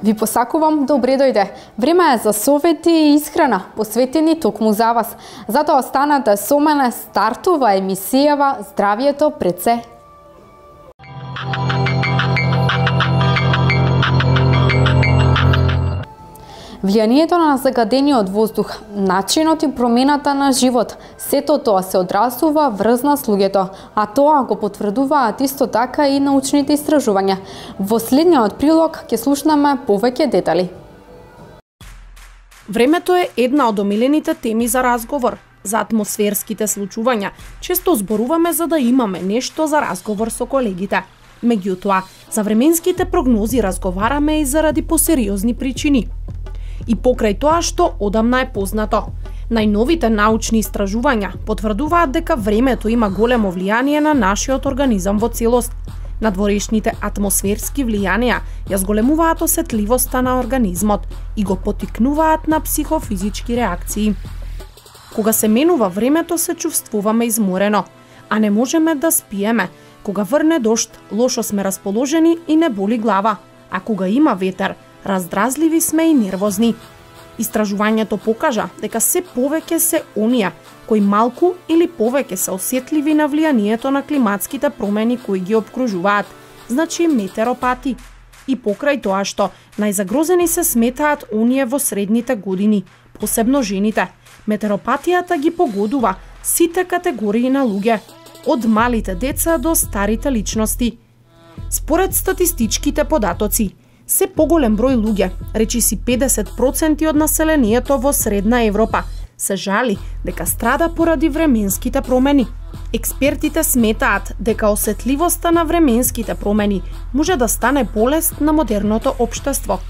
Ви посакувам добре дојде. Време е за совети и исхрана, посветени токму за вас. Затоа останете со мене, стартува емисијава Здравието пред се. Влијанието на загадениот воздух, начинот и промената на живот, сето тоа се одразува врз нас луѓето, а тоа го потврдуваат исто така и научните истражувања. Во следниот прилог ќе слушнаме повеќе детали. Времето е една од омилените теми за разговор. За атмосферските случувања често зборуваме за да имаме нешто за разговор со колегите. Меѓутоа, за временските прогнози разговараме и заради посериозни причини. И покрај тоа што одамна е познато. Најновите научни истражувања потврдуваат дека времето има големо влијание на нашиот организам во целост. Надворешните атмосферски влијанија ја зголемуваат осетливоста на организмот и го поттикнуваат на психофизички реакции. Кога се менува времето се чувствуваме изморено, а не можеме да спиеме. Кога врне дожд, лошо сме расположени и не боли глава, а кога има ветер, раздразливи сме и нервозни. Истражувањето покажа дека се повеќе се оние кои малку или повеќе се осетливи на влијанието на климатските промени кои ги опкружуваат, значи метеоропати. И покрај тоа што најзагрозени се сметаат оние во средните години, посебно жените. Метеоропатијата ги погодува сите категории на луѓе, од малите деца до старите личности. Според статистичките податоци, се поголем број луѓе, речиси 50% од населението во Средна Европа, се жали дека страда поради временските промени. Експертите сметаат дека осетливоста на временските промени може да стане болест на модерното општество.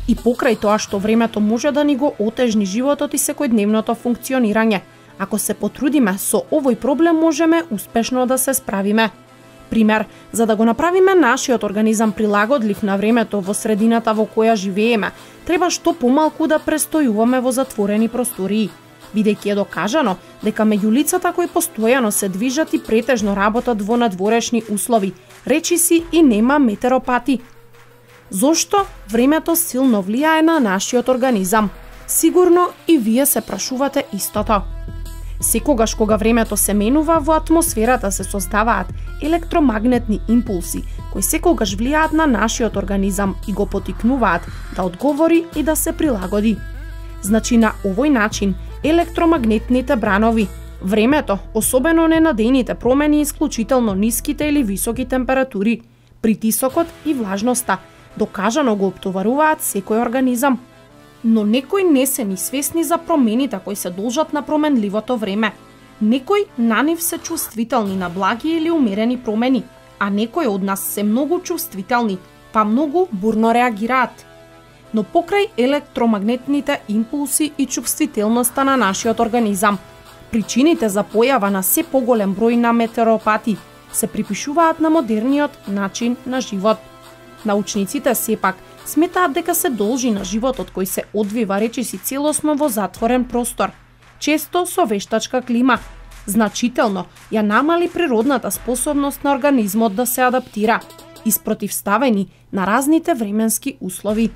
И покрај тоа што времето може да ни го отежни животот и секојдневното функционирање, ако се потрудиме со овој проблем можеме успешно да се справиме. Пример, за да го направиме нашиот организам прилагодлив на времето во средината во која живееме, треба што помалку да престојуваме во затворени простории. Бидејќи е докажано дека меѓу лицата кои постојано се движат и претежно работат во надворешни услови, речиси и нема метеоропати. Зошто времето силно влијае на нашиот организам? Сигурно и вие се прашувате истото. Секогаш кога времето се менува, во атмосферата се создаваат електромагнетни импулси, кои секогаш влијаат на нашиот организам и го поттикнуваат да одговори и да се прилагоди. Значи на овој начин, електромагнетните бранови, времето, особено ненадејните промени, исклучително ниските или високи температури, притисокот и влажноста, докажано го оптоваруваат секој организам. Но некои не се ни свесни за промените кои се должат на променливото време. Некои на нив се чувствителни на благи или умерени промени, а некои од нас се многу чувствителни, па многу бурно реагираат. Но покрај електромагнетните импулси и чувствителноста на нашиот организам, причините за појава на се поголем број на метеоропати се припишуваат на модерниот начин на живот. Научниците сепак сметаат дека се должи на животот кој се одвива речиси целосно во затворен простор, често со вештачка клима. Значително ја намали природната способност на организмот да се адаптира, испротивставени на разните временски услови.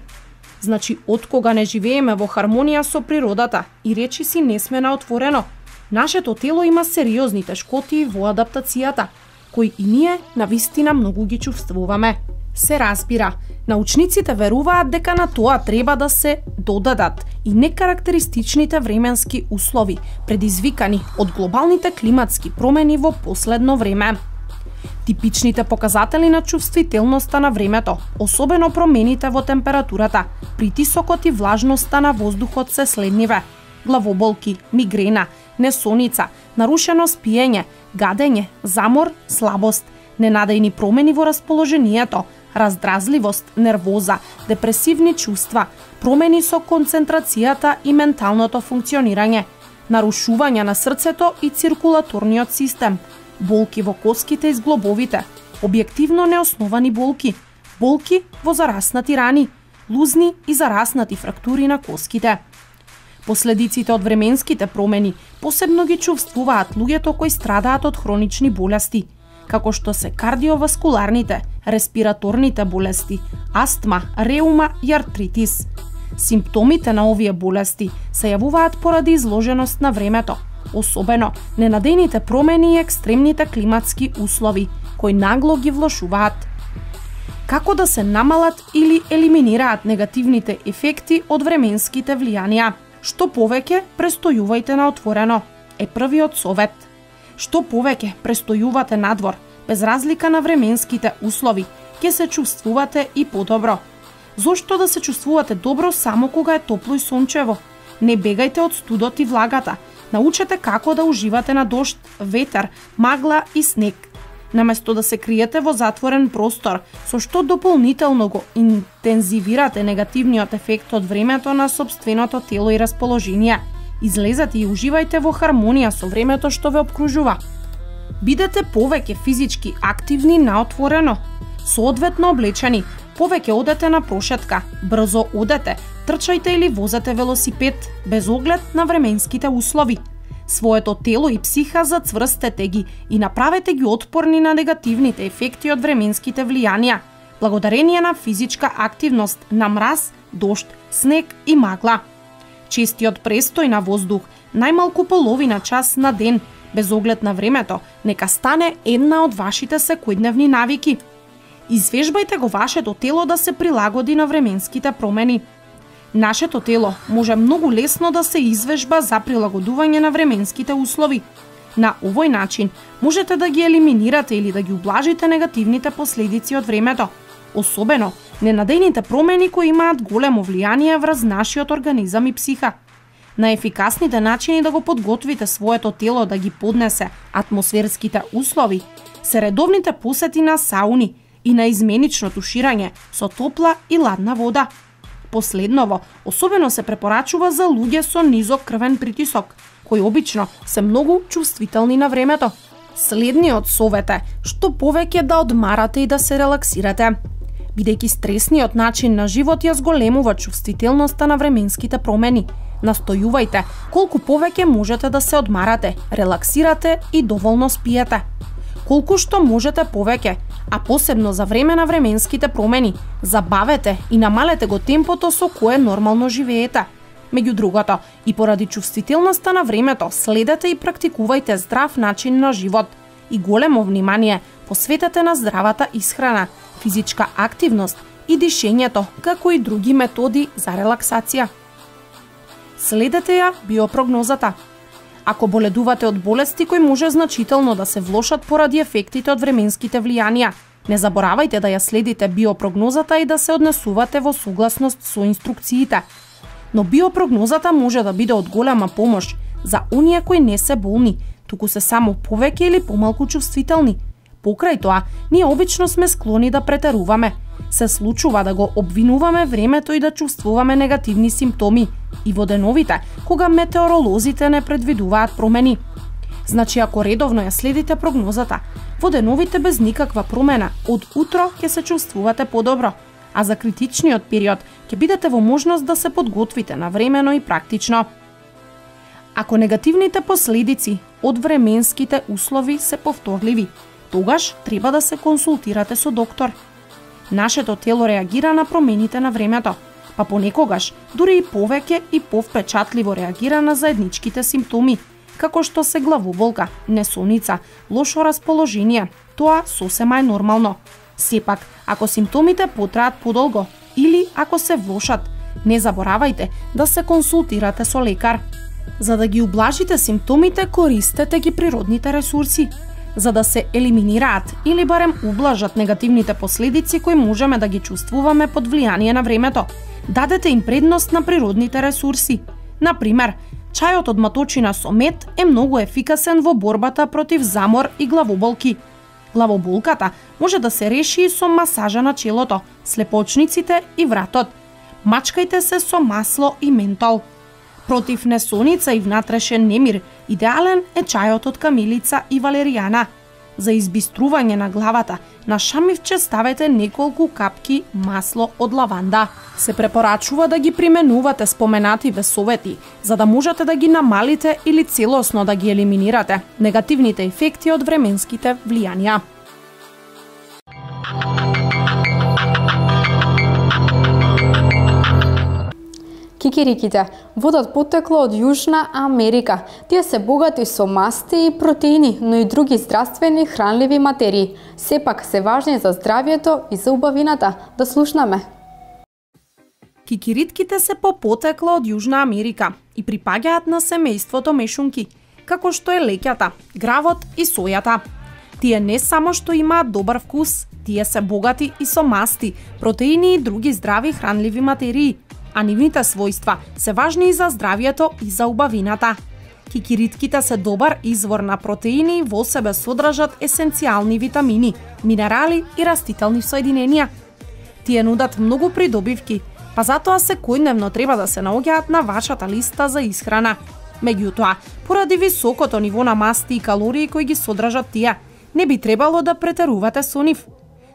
Значи, откога не живееме во хармонија со природата и речиси не сме на отворено, нашето тело има сериозни тешкоти во адаптацијата, кои и ние навистина многу ги чувствуваме. Се разбира, научниците веруваат дека на тоа треба да се додадат и некарактеристичните временски услови, предизвикани од глобалните климатски промени во последно време. Типичните показатели на чувствителноста на времето, особено промените во температурата, притисокот и влажноста на воздухот се следниве: главоболки, мигрена, несоница, нарушено спиење, гадење, замор, слабост, ненадејни промени во расположението, раздразливост, нервоза, депресивни чувства, промени со концентрацијата и менталното функционирање, нарушување на срцето и циркулаторниот систем, болки во коските и зглобовите, објективно неосновани болки, болки во зараснати рани, лузни и зараснати фрактури на коските. Последиците од временските промени посебно ги чувствуваат луѓето кои страдаат од хронични болести, како што се кардиоваскуларните, респираторните болести, астма, реума и артритис. Симптомите на овие болести се јавуваат поради изложеност на времето, особено ненадејните промени и екстремните климатски услови, кои нагло ги влошуваат. Како да се намалат или елиминираат негативните ефекти од временските влијанија? Што повеќе престојувајте на отворено е првиот совет. Што повеќе престојувате надвор, без разлика на временските услови, ќе се чувствувате и подобро. Зошто да се чувствувате добро само кога е топло и сончево? Не бегајте од студот и влагата. Научете како да уживате на дожд, ветер, магла и снег. Наместо да се криете во затворен простор, со што дополнително го интензивирате негативниот ефект од времето на сопственото тело и расположение, излезете и уживајте во хармонија со времето што ве обкружува. Бидете повеќе физички активни на отворено, соодветно облечени, повеќе одете на прошетка, брзо одете, трчајте или возете велосипед, без оглед на временските услови. Своето тело и психа зацврстете ги и направете ги отпорни на негативните ефекти од временските влијанија, благодарение на физичка активност на мраз, дожд, снег и магла. Честиот престој на воздух, најмалку половина час на ден, без оглед на времето, нека стане една од вашите секојдневни навики. Извежбајте го вашето тело да се прилагоди на временските промени. Нашето тело може многу лесно да се извежба за прилагодување на временските услови. На овој начин можете да ги елиминирате или да ги ублажите негативните последици од времето, особено ненадејните промени кои имаат големо влијание врз нашиот организам и психа. Најефикасните начини да го подготвите своето тело да ги поднесе атмосферските услови се редовните посети на сауни и на изменично туширање со топла и ладна вода. Последново, особено се препорачува за луѓе со низок крвен притисок, кои обично се многу чувствителни на времето. Следниот совет е што повеќе да одмарате и да се релаксирате. Бидејќи стресниот начин на живот ја зголемува чувствителноста на временските промени, настојувајте колку повеќе можете да се одмарате, релаксирате и доволно спиете. Колку што можете повеќе, а посебно за време на временските промени, забавете и намалете го темпото со кое нормално живеете. Меѓу другото, и поради чувствителноста на времето, следете и практикувајте здрав начин на живот и големо внимание посветете на здравата исхрана, физичка активност и дишењето, како и други методи за релаксација. Следете ја биопрогнозата. Ако боледувате од болести кои може значително да се влошат поради ефектите од временските влијанија, не заборавајте да ја следите биопрогнозата и да се однесувате во согласност со инструкциите. Но биопрогнозата може да биде од голема помош за оние кои не се болни, туку се само повеќе или помалку чувствителни. Покрај тоа, ние обично сме склони да претеруваме. Се случува да го обвинуваме времето и да чувствуваме негативни симптоми и во деновите, кога метеоролозите не предвидуваат промени. Значи, ако редовно ја следите прогнозата, во деновите без никаква промена, од утро ќе се чувствувате подобро, а за критичниот период ќе бидете во можност да се подготвите навремено и практично. Ако негативните последици од временските услови се повторливи, тогаш треба да се консултирате со доктор. Нашето тело реагира на промените на времето, па понекогаш дури и повеќе и повпечатливо реагира на заедничките симптоми, како што се главоболка, несоница, лошо расположение. Тоа сосема е нормално. Сепак, ако симптомите потраат подолго или ако се влошат, не заборавајте да се консултирате со лекар. За да ги ублажите симптомите, користете ги природните ресурси. За да се елиминираат или барем ублажат негативните последици кои можеме да ги чувствуваме под влијание на времето, дадете им предност на природните ресурси. Например, чајот од маточина со мед е многу ефикасен во борбата против замор и главоболки. Главоболката може да се реши и со масажа на челото, слепочниците и вратот. Мачкајте се со масло и ментол. Против несоница и внатрешен немир, идеален е чајот од камилица и валеријана. За избистрување на главата, на шамивче ставете неколку капки масло од лаванда. Се препорачува да ги применувате споменативе совети, за да можете да ги намалите или целосно да ги елиминирате негативните ефекти од временските влијанија. Кикириките водат потекло од Јужна Америка. Тие се богати со масти и протеини, но и други здравствени хранливи материи. Сепак се важни за здравјето и за убавината. Да слушнаме. Кикиритките се по потекло од Јужна Америка и припаѓаат на семејството мешунки, како што е леќата, гравот и сојата. Тие не само што имаат добар вкус, тие се богати и со масти, протеини и други здрави хранливи материи, а нивните својства се важни и за здравјето и за убавината. Кикиритките се добар извор на протеини и во себе содржат есенцијални витамини, минерали и растителни соединенија. Тие нудат многу придобивки, па затоа секојдневно треба да се наоѓаат на вашата листа за исхрана. Меѓутоа, поради високото ниво на масти и калории кои ги содржат тие, не би требало да претерувате со нив.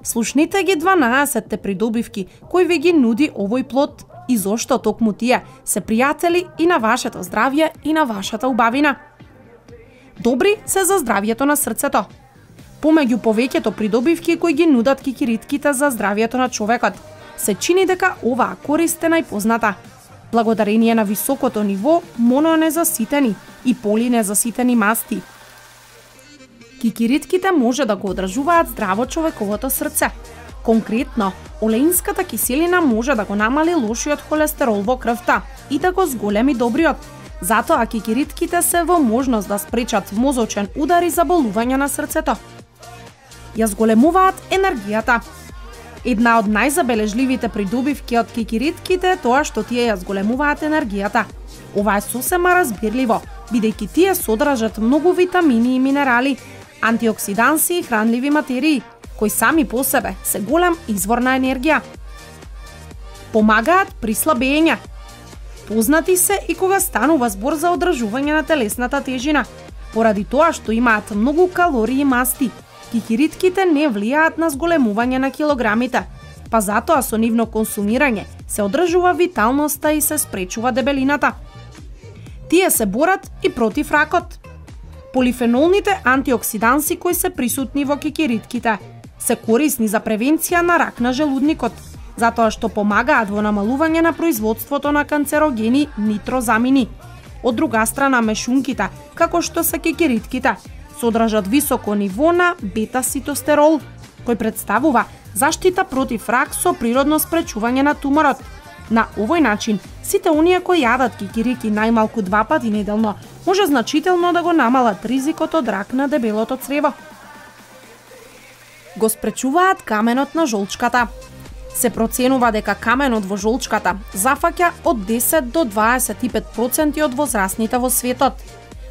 Слушнете ги 12 придобивки кои ви ги нуди овој плод и зошто токму тие се пријатели и на вашето здравје и на вашата убавина. Добри се за здравјето на срцето. Помеѓу повеќето придобивки кои ги нудат кикиритките за здравјето на човекот, се чини дека оваа корист е најпозната. Благодарение на високото ниво мононезаситени и полинезаситени масти. Кикиритките може да го одржуваат здраво човековото срце. Конкретно, олеинската киселина може да го намали лошиот холестерол во крвта и да го зголеми добриот. Затоа кикиритките се во можност да спречат мозочен удар и заболување на срцето. Ја зголемуваат енергијата. Една од најзабележливите придобивки од кикиритките е тоа што тие ја зголемуваат енергијата. Ова е сосема разбирливо, бидејќи тие содржат многу витамини и минерали, антиоксиданси и хранливи материи, кои сами по себе се голем извор на енергија. Помагаат при слабење. Познати се и кога станува збор за одржување на телесната тежина, поради тоа што имаат многу калории и масти. Кикиритките не влијаат на зголемување на килограмите, па затоа со нивно консумирање се одржува виталноста и се спречува дебелината. Тие се борат и против ракот. Полифенолните антиоксиданси кои се присутни во кикиритките се корисни за превенција на рак на желудникот, затоа што помагаат во намалување на производството на канцерогени нитрозамини. Од друга страна, мешунките, како што се кикиритките, содржат високо ниво на бета-ситостерол, кој представува заштита против рак со природно спречување на туморот. На овој начин, сите оние кои јадат кикирики најмалку 2 пати неделно, може значително да го намалат ризикот од рак на дебелото црево. Го спречуваат каменот на жолчката. Се проценува дека каменот во жолчката зафаќа од 10 до 25% од возрастните во светот.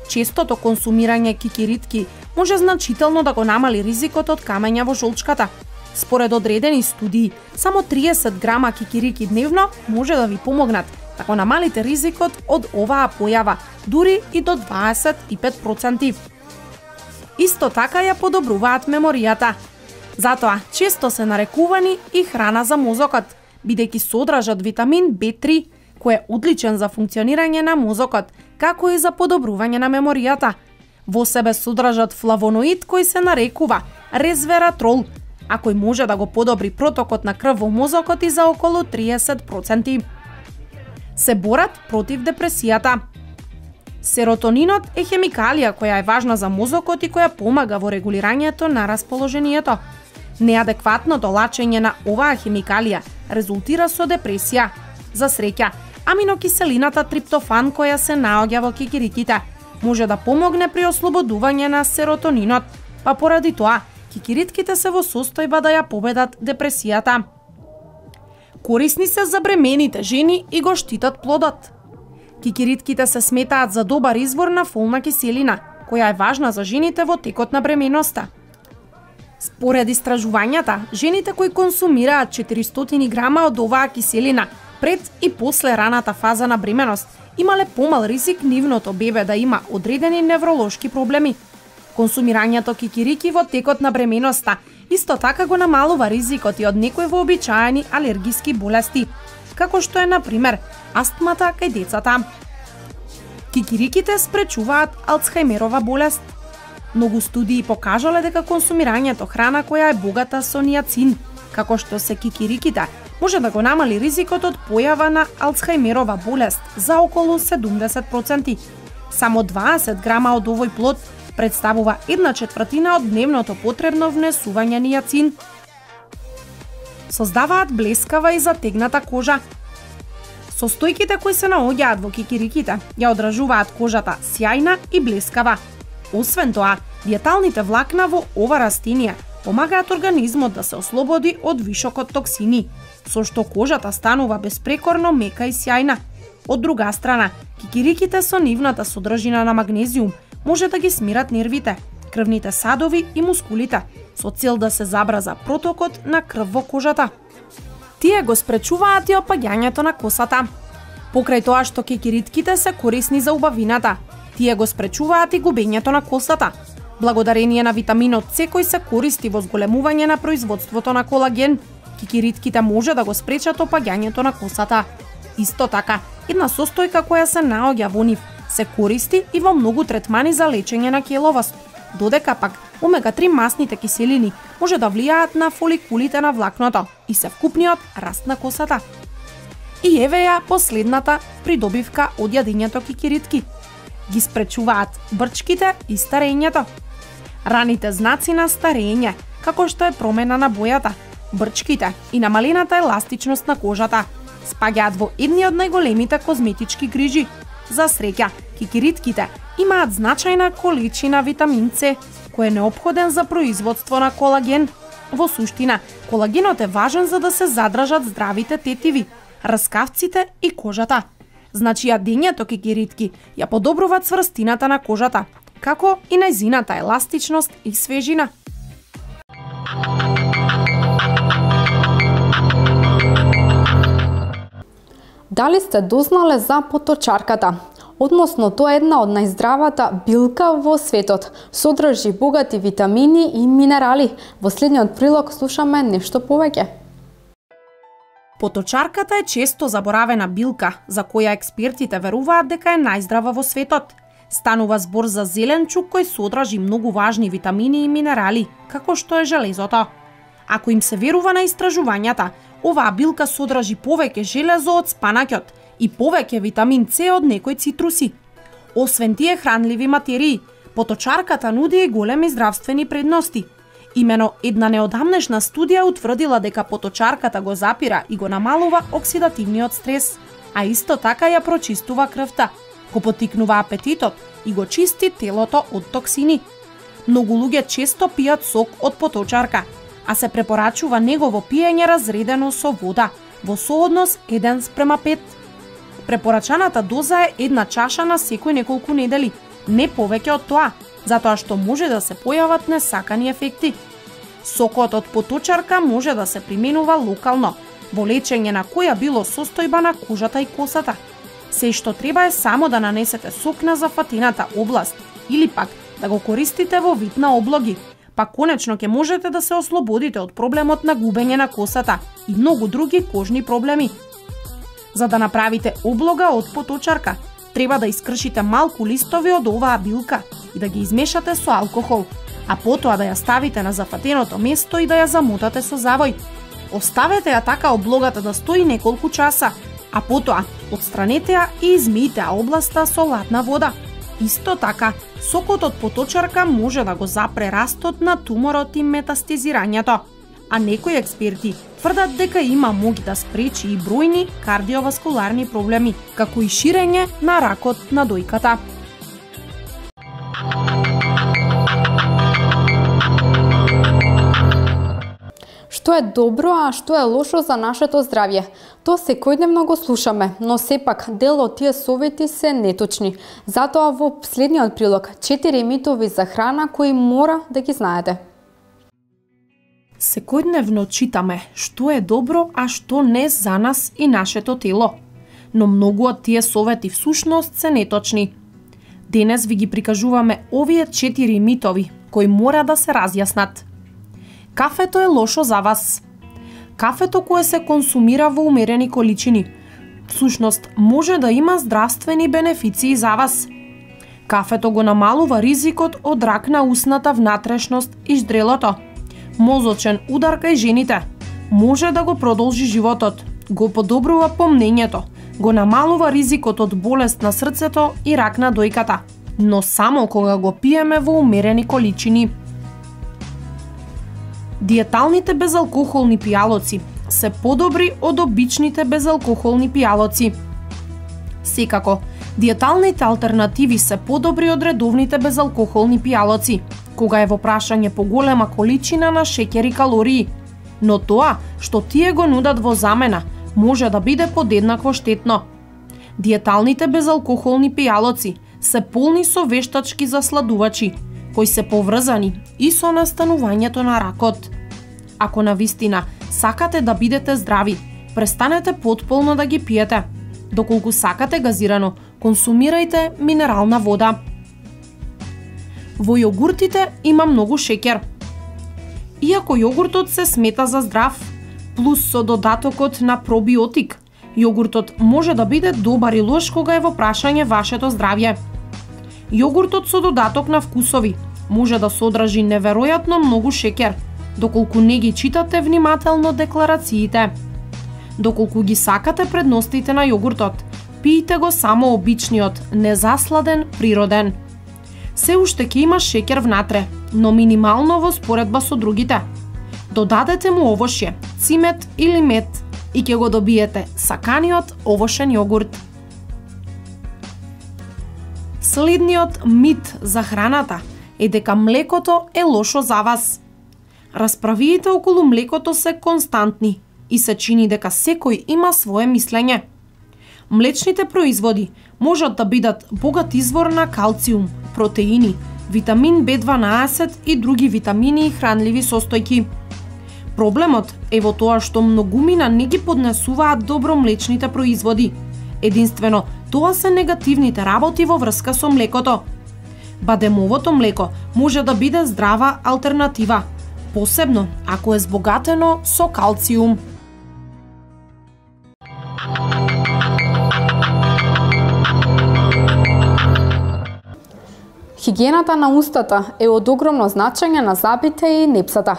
Честото консумирање кикиритки може значително да го намали ризикот од камења во жолчката. Според одредени студии, само 30 грама кикирики дневно може да ви помогнат да го намалите ризикот од оваа појава, дури и до 25%. Исто така ја подобруваат меморијата. Затоа често се нарекувани и храна за мозокот, бидејќи содржат витамин B3, кој е одличен за функционирање на мозокот, како и за подобрување на меморијата. Во себе содржат флавоноид кој се нарекува резвератрол, а кој може да го подобри протокот на крв во мозокот и за околу 30%. Се борат против депресијата. Серотонинот е хемикалија која е важна за мозокот и која помага во регулирањето на расположението. Неадекватното лачење на оваа хемикалија резултира со депресија. За среќа, аминокиселината триптофан која се наоѓа во кикириките може да помогне при ослободување на серотонинот, па поради тоа кикиритките се во состојба да ја победат депресијата. Корисни се за бремените жени и го штитат плодот. Кикиритките се сметаат за добар извор на фолна киселина, која е важна за жените во текот на бременоста. Според истражувањата, жените кои консумираат 400 грама од оваа киселина пред и после раната фаза на бременост имале помал ризик нивното бебе да има одредени невролошки проблеми. Консумирањето кикирики во текот на бременоста исто така го намалува ризикот и од некои вообичаени алергиски болести, како што е, например, астмата кај децата. Кикириките спречуваат Алцхајмерова болест. Многу студии покажале дека консумирањето храна која е богата со ниацин, како што се кикириките, може да го намали ризикот од појава на Алцхајмерова болест за околу 70%. Само 20 грама од овој плод представува 1/4 од дневното потребно внесување нијацин. Создаваат блескава и затегната кожа. Состојките кои се наоѓаат во кикириките ја одражуваат кожата сјајна и блескава. Освен тоа, диеталните влакна во ова растение помагаат организмот да се ослободи од вишокот токсини, со што кожата станува беспрекорно мека и сјајна. Од друга страна, кикириките со нивната содржина на магнезиум може да ги смират нервите, крвните садови и мускулите, со цел да се забрза протокот на крв во кожата. Тие го спречуваат и опаѓањето на косата. Покрај тоа што кикиритките се корисни за убавината, тие го спречуваат и губењето на косата, благодарение на витаминот С кој се користи во зголемување на производството на колаген. Кикиритките може да го спречат опаѓањето на косата. Исто така, една состојка која се наоѓа во нив се користи и во многу третмани за лечење на келовост, додека пак омега-3 масните киселини може да влијаат на фоликулите на влакното и се вкупниот раст на косата. И еве ја последната придобивка од јадењето кикиритки. Ги спречуваат брчките и старењето. Раните знаци на старење, како што е промена на бојата, брчките и намалената еластичност на кожата, спаѓаат во едни од најголемите козметички грижи. За среќа, кикиритките имаат значајна количина витамин С, кој е неопходен за производство на колаген. Во суштина, колагенот е важен за да се задржат здравите тетиви, раскавците и кожата. Значи јадењето кикиритки ја подобруваат цврстината на кожата, како и нејзината еластичност и свежина. Дали сте дознале за поточарката? Односно, тоа е една од најздравата билка во светот. Содржи богати витамини и минерали. Во следниот прилог слушаме нешто повеќе. Поточарката е често заборавена билка, за која експертите веруваат дека е најздрава во светот. Станува збор за зеленчук кој содржи многу важни витамини и минерали, како што е железото. Ако им се верува на истражувањата, оваа билка содржи повеќе железо од спанаќот и повеќе витамин С од некои цитруси. Освен тие хранливи материи, поточарката нуди и големи здравствени предности. Имено една неодамнешна студија утврдила дека поточарката го запира и го намалува оксидативниот стрес, а исто така ја прочистува крвта, го поттикнува апетитот и го чисти телото од токсини. Многу луѓе често пијат сок од поточарка, а се препорачува негово пиење разредено со вода, во сооднос 1:5. Препорачаната доза е 1 чаша на секој неколку недели, не повеќе од тоа, затоа што може да се појават несакани ефекти. Сокот од поточарка може да се применува локално, во лечење на која било состојба на кожата и косата. Се што треба е само да нанесете сок на зафатената област или пак да го користите во вид на облоги, па конечно ќе можете да се ослободите од проблемот на губење на косата и многу други кожни проблеми. За да направите облога од поточарка, треба да искршите малку листови од оваа билка и да ги измешате со алкохол, а потоа да ја ставите на зафатеното место и да ја замотате со завој. Оставете ја така облогата да стои неколку часа, а потоа отстранете ја и измијте областа со ладна вода. Исто така, сокот од поточарка може да го запре растот на туморот и метастазирањето, а некои експерти тврдат дека има моги да спречи и бројни кардиоваскуларни проблеми, како и ширење на ракот на дојката. Што е добро, а што е лошо за нашето здравје? Тоа секојдневно го слушаме, но сепак дел од тие совети се неточни. Затоа во следниот прилог 4 митови за храна кои мора да ги знаете. Секојдневно читаме што е добро, а што не за нас и нашето тело. Но многу од тие совети всушност се неточни. Денес ви ги прикажуваме овие 4 митови кои мора да се разјаснат. Кафето е лошо за вас. Кафето кое се консумира во умерени количини, всушност може да има здравствени бенефиции за вас. Кафето го намалува ризикот од рак на усната внатрешност и ждрелото, мозочен удар кај жените, може да го продолжи животот, го подобрува помнењето, го намалува ризикот од болест на срцето и рак на дојката, но само кога го пиеме во умерени количини. Диеталните безалкохолни пијалоци се подобри од обичните безалкохолни пијалоци. Секако, диеталните алтернативи се подобри од редовните безалкохолни пијалоци, кога е во прашање поголема количина на шеќер и калории, но тоа што тие го нудат во замена може да биде подеднакво штетно. Диеталните безалкохолни пијалоци се полни со вештачки засладувачи, кои се поврзани и со настанувањето на ракот. Ако навистина сакате да бидете здрави, престанете потполно да ги пиете. Доколку сакате газирано, консумирајте минерална вода. Во јогуртите има многу шеќер. Иако јогуртот се смета за здрав, плюс со додатокот на пробиотик, јогуртот може да биде добар и лош кога е во прашање вашето здравје. Јогуртот со додаток на вкусови може да содржи неверојатно многу шеќер, доколку не ги читате внимателно декларациите. Доколку ги сакате предностите на јогуртот, пиете го само обичниот, незасладен, природен. Се уште ќе има шеќер внатре, но минимално во споредба со другите. Додадете му овошје, цимет или мед и ќе го добиете саканиот овошен јогурт. Следниот мит за храната е дека млекото е лошо за вас. Расправиите околу млекото се константни и се чини дека секој има свое мислење. Млечните производи можат да бидат богат извор на калциум, протеини, витамин B12 и други витамини и хранливи состојки. Проблемот е во тоа што многумина не ги поднесуваат добро млечните производи. Единствено, тоа се негативните работи во врска со млекото. Бадемовото млеко може да биде здрава алтернатива, посебно ако е збогатено со калциум. Хигиената на устата е од огромно значење на забите и непсата.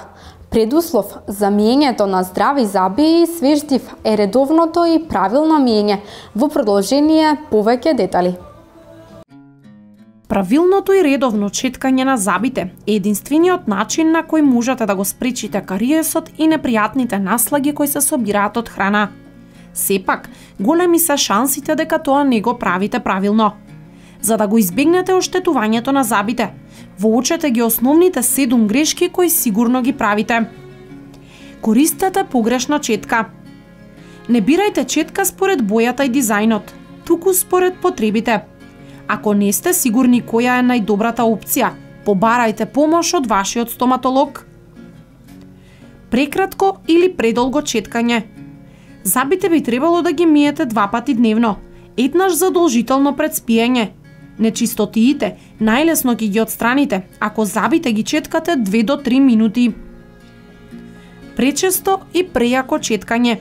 Предуслов за миењето на здрави заби и свеж див е редовното и правилно миење. Во продолжение повеќе детали. Правилното и редовно четкање на забите е единствениот начин на кој можете да го спречите кариесот и непријатните наслаги кои се собираат од храна. Сепак, големи се шансите дека тоа не го правите правилно. За да го избегнете оштетувањето на забите, воочете ги основните 7 грешки кои сигурно ги правите. Користете погрешна четка. Не бирајте четка според бојата и дизајнот, туку според потребите. Ако не сте сигурни која е најдобрата опција, побарајте помош од вашиот стоматолог. Прекратко или предолго четкање. Забите би требало да ги миете 2 пати дневно, еднаш задолжително пред спиење. Нечистотиите најлесно ќе ги отстраните ако забите ги четкате 2 до 3 минути. Пречесто и прејако четкање.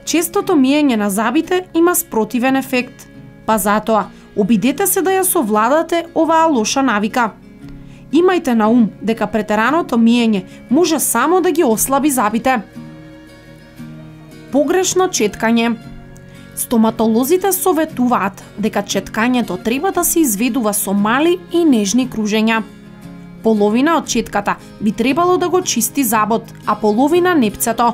Честото миење на забите има спротивен ефект, па затоа обидете се да ја совладате оваа лоша навика. Имајте на ум дека претераното миење може само да ги ослаби забите. Погрешно четкање. Стоматолозите советуваат дека четкањето треба да се изведува со мали и нежни кружења. Половина од четката би требало да го чисти забот, а половина непцето.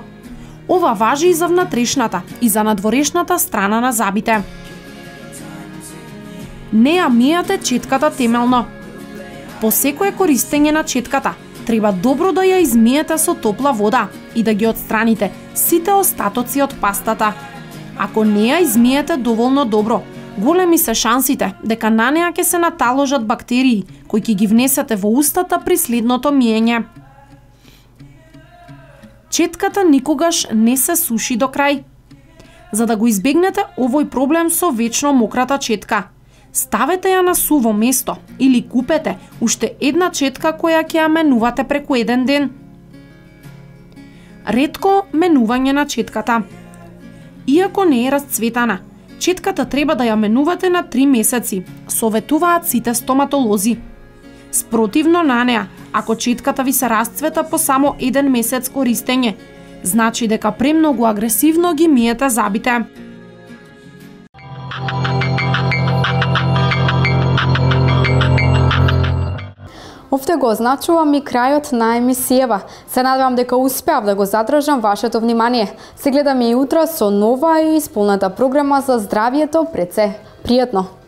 Ова важи и за внатрешната и за надворешната страна на забите. Не ја мијате четката темелно. По секое користење на четката, треба добро да ја измиете со топла вода и да ги отстраните сите остатоци од пастата. Ако не ја измиете доволно добро, големи се шансите дека на неа ќе се наталожат бактерии кои ќе ги внесете во устата при следното миење. Четката никогаш не се суши до крај. За да го избегнете овој проблем со вечно мократа четка, ставете ја на суво место или купете уште една четка која ќе ја менувате преку еден ден. Ретко менување на четката. Иако не е расцветана, четката треба да ја менувате на 3 месеци, советуваат сите стоматолози. Спротивно на неа, ако четката ви се расцвета по само 1 месец користење, Значи дека премногу агресивно ги миете забите. Овде го означувам и крајот на емисијава. Се надевам дека успеав да го задржам вашето внимание. Се гледаме и утре со нова и исполната програма за здравието пред се. Пријатно!